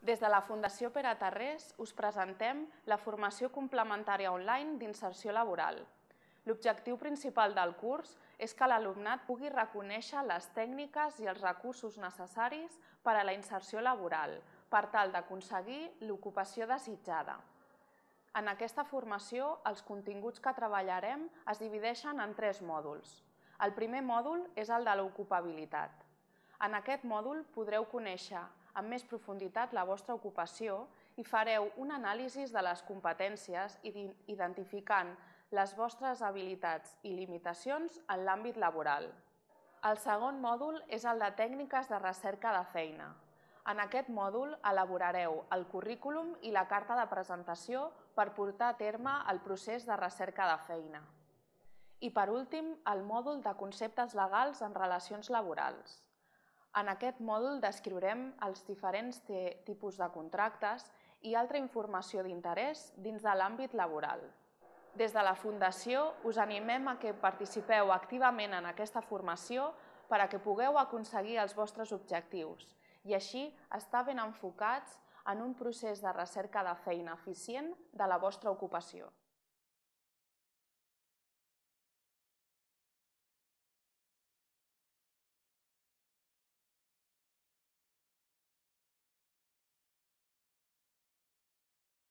Des de la Fundació Pere Tarrés us presentem la formació complementària online d'inserció laboral. L'objectiu principal del curs és que l'alumnat pugui reconèixer les tècniques i els recursos necessaris per a la inserció laboral, per tal d'aconseguir l'ocupació desitjada. En aquesta formació, els continguts que treballarem es divideixen en 3 mòduls. El primer mòdul és el de l'ocupabilitat. En aquest mòdul podreu conèixer amb més profunditat la vostra ocupació i fareu un anàlisi de les competències identificant les vostres habilitats i limitacions en l'àmbit laboral. El segon mòdul és el de tècniques de recerca de feina. En aquest mòdul elaborareu el currículum i la carta de presentació per portar a terme el procés de recerca de feina. I per últim, el mòdul de conceptes legals en relacions laborals. En aquest mòdul descriurem els diferents tipus de contractes i altra informació d'interès dins de l'àmbit laboral. Des de la Fundació us animem a que participeu activament en aquesta formació per a que pugueu aconseguir els vostres objectius i així estar ben enfocats en un procés de recerca de feina eficient de la vostra ocupació.